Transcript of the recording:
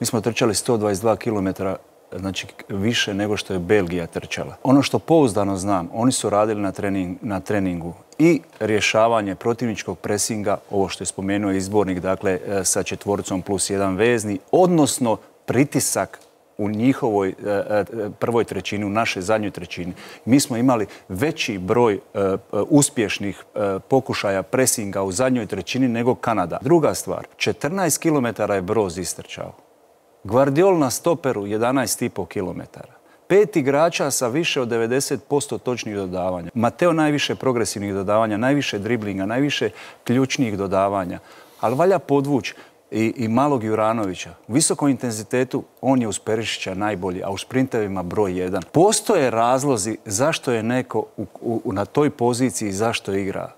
Mi smo trčali 122 km, znači više nego što je Belgija trčala. Ono što pouzdano znam, oni su radili na treningu i rješavanje protivničkog presinga, ovo što je spomenuo izbornik, dakle sa četvoricom plus jedan vezni, odnosno pritisak u njihovoj prvoj trećini, u našoj zadnjoj trećini. Mi smo imali veći broj uspješnih pokušaja presinga u zadnjoj trećini nego Kanada. Druga stvar, 14 km je Broz istrčao. Guardiol na stoperu 11,5 km. 5 igrača sa više od 90% točnih dodavanja. Mateo najviše progresivnih dodavanja, najviše driblinga, najviše ključnih dodavanja. Ali valja podvući i malog Juranovića. U visokom intenzitetu on je uz Perišića najbolji, a u sprintevima broj 1. Postoje razlozi zašto je neko na toj poziciji, zašto igra.